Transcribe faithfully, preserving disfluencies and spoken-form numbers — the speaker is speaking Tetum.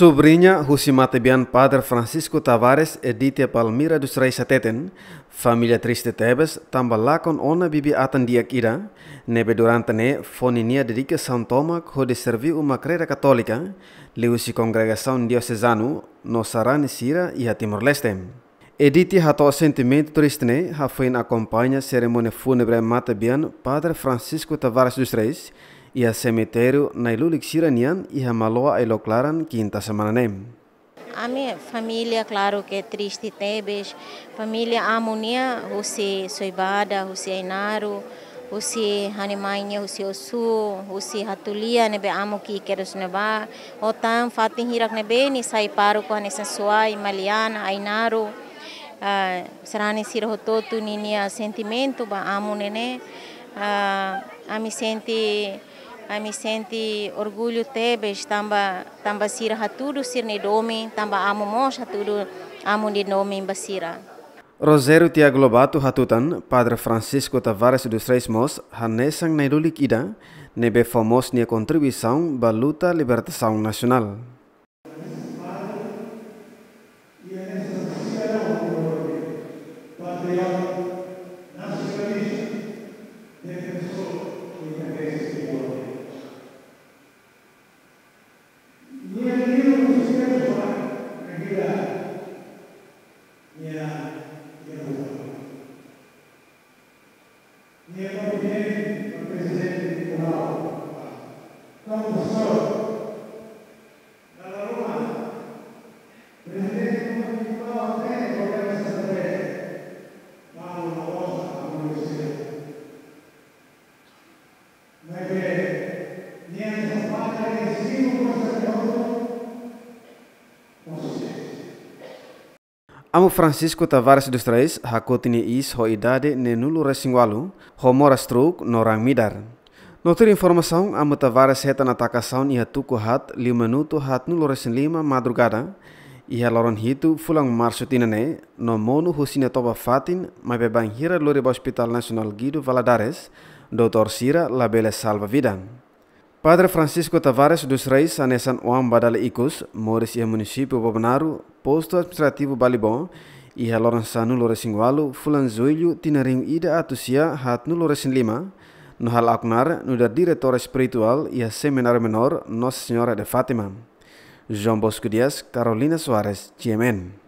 Subriña husi matebian Padre Francisco Tavares, Edite Palmira dos Reis hateten, família triste tebes tanba lakon ona bibi-atan di'ak ida, ne'ebé durante ne'e fó ninia dedikasaun tomak hodi serví uma kreda katólika, liuhusi kongregasaun diosezanu no sarani sira iha Timor-Leste. Edite hato'o sentimentu triste ne'e hafoin akompaña serimónia fúnebre matebian Padre Francisco Tavares dos Reis iha semitériu nai-lulik sira-nian iha Maloa, Ailok Laran, kinta semana ne'e. Ami família, klaru ke triste tebes. Família amu nia, husi Soibada, husi Ainaro, husi ha'u-nia, husi Osu, husi Hatulia, ne'ebé amu ki'ik kedas ne'ebá. Ho tan fatin hirak ne'ebé nia sai pároku hanesan Suai, Maliana, Ainaro. Ah, sarani sira hotu-hotu ninia sentimentu ba amu ne'e ne'e. Ah, ami sente, ami sente orgullu tebes tanba, tanba sira hatudu sira-nia domin, tanba amu mós hatudu amu nia domin ba sira. Rogério Tiago Lobato hatutan, Padre Francisco Tavares dos Reis mós hanesan nai-lulik ida ne'ebé fó mós nia kontribuisaun ba luta libertasaun nasionál. Nia konfidente ba Prezidente Nicolau, Dom Pastor, dala ruma Prezidente Nicolau hatene problema Santa Cruz, Paulo Barbosa, Abu Yusuf. Maibé, nia só para nia simu forsa de outro, consciência. Amu Francisco Tavares dos Reis hakotu nia iis ho idade neenulu-resin-ualu, ho moras truuk no raan midar. No tuir informasaun, Amu Tavares hetan atakasaun iha tuku haat, liu minutu haatnulu-resin-lima madrugada, iha loron hitu fulan Marsu tinan ne'e, no monu husi nia toba-fatin, maibé bainhira lori ba Hospital Nasionál Guido Valadares, doutór sira labele salva vida. Padre Francisco Tavares dos Reis hanesan oan ba dala ikus, moris iha munisípiu Bobonaro, postu administrativu Balibó, iha loron sanulu-resin-ualu, fulan Jullu, tinan rihun ida atus sia haatnulu-resin-lima, no halo knaar nu'udar diretór espirituál iha Semináriu Menór Nossa Senhora de Fátima. João Bosco Dias, Carolina Soares, G M N.